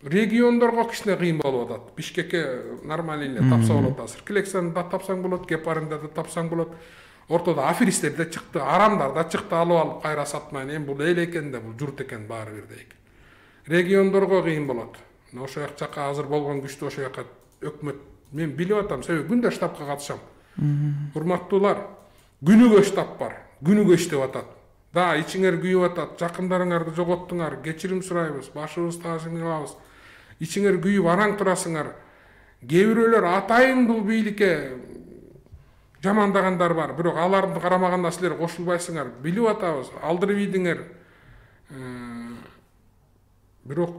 Региондорго кичине кыйын болуп атат. Бишкекке нормально эле тапса болот азыр. Килексаны да тапсаң болот, Гепарында да тапсаң болот. Ортодо аферисттер да чыкты, арамдар да чыкты, алып кайра сатмайын. Эми бул эл экен да, бул журт экен баары бирдей экен. Региондорго кыйын болот. Ошо жака азыр болгон күчтү ошо жака өкмөт мен билип атам, себеби күндө штабка катышам. Урматтуулар, күнүгө штаб бар, күнүгө иштеп атат. Да, ичиңер күйүп атат, жакындарыңарды жоготтуңар, кечирим сурайбыз, башыбызды таасим кылабыз. Ичиңер күйүп араң турасыңар. Кээ бирөөлөр атайын бул бийликке жамандагандар бар, бирок аларды карамаганда силер кошулбайсыңар. Билип атабыз, алдырып ийдиңер. Бирок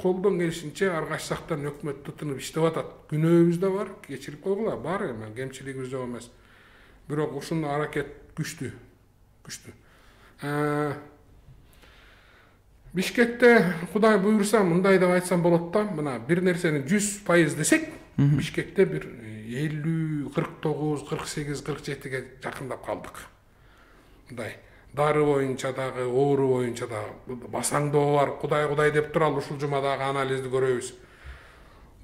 колдон келишинче ар кайсы жактан өкмөт тутунуп иштеп атат. Күнөөбүз да бар, кечирип койгула, бар эми, кемчилигибиз жок эмес. Бирок ушуну аракет күчтүү. Бишкекте Кудай буйрса мындай деп айтсам болот да, мына бир нерсени 100% десек, Бишкекте бир 50, 49, 48, 47ге жакындап калдык. Мындай дары боюнча дагы, оору боюнча дагы басаңдоо бар. Кудай деп туралы ушул жума дагы анализди көрөбүз.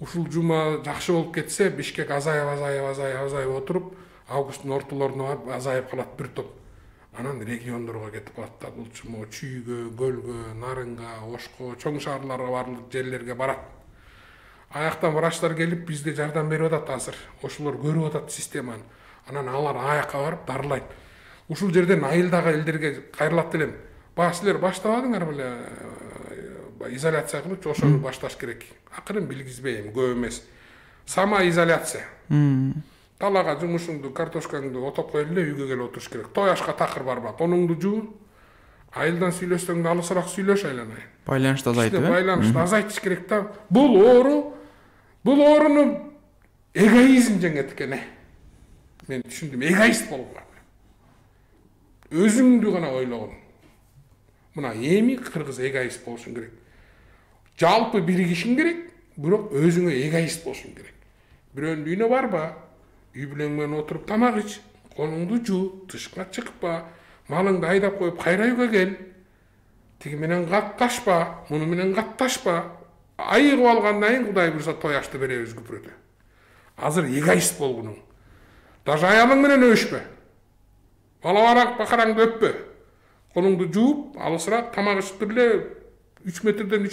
Ушул жума жакшы болуп кетсе, Бишкек азайып отуруп, августтун ортолоруна барып азайып калат бир топ. Анан региондорго кетип калат да, бул чума Чүйгө, Көлгө, Нарынга, Ошко, чоң шаарларга барлык жерлерге барат. Аяктан врачтар келип бизге жардам берип атат азыр. Ошолор көрүп атат системаны. Анан алар аякка барып дарылайт. Ушул жерден айылдагы элдерге кайрылат элем. Силер баштабадыңар беле изоляция кылып, ошону башташ керек. Акырын билгизбейм, көп эмес. Самоизоляция. Талага жумушуңду, картошкаңды отоп коюп эле үйгө келип отуруш керек. Тояшка такыр барба. Конуңду жуу. Айылдан сүйлөшсөң да алысыраак сүйлөш айланайын. Байланышты азайтып, байланышты азайтыш керек да. Бул ооруну эгоизм жеңет экен. Мен түшүндүм, эгоист болгон. Өзүңдү гана ойлогон. Мына эми кыргыз эгоист болушуң керек. Жалпы биригишиң керек, бирок өзүңө эгоист болушуң керек. Бирөөнүн үйүнө барба, үй бүлөң менен отуруп тамак ич, конуңду жуу, тышка чыкпа, малыңды айдап коюп кайра үйгө кел. Тиги менен катташпа, муну менен катташпа. Айыгып алгандан кийин Кудай буйрса тояшты беребиз күпүрөдө. Азыр эгоист болгунуң. Даже аялың менен өбүшпө. Бала бакараңды өппө. Конуңду жууп, алысыраак тамак ичип эле 3 метрден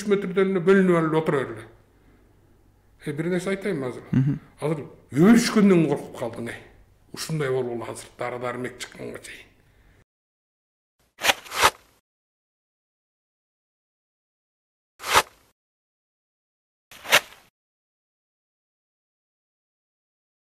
бөлүнүп эле отура бер. Бир нерсе айтайынбы азыр? Азыр өбүшкөндөн коркуп калдың. Ушундай болгулу азыр дары-дармек чыкканга чейин.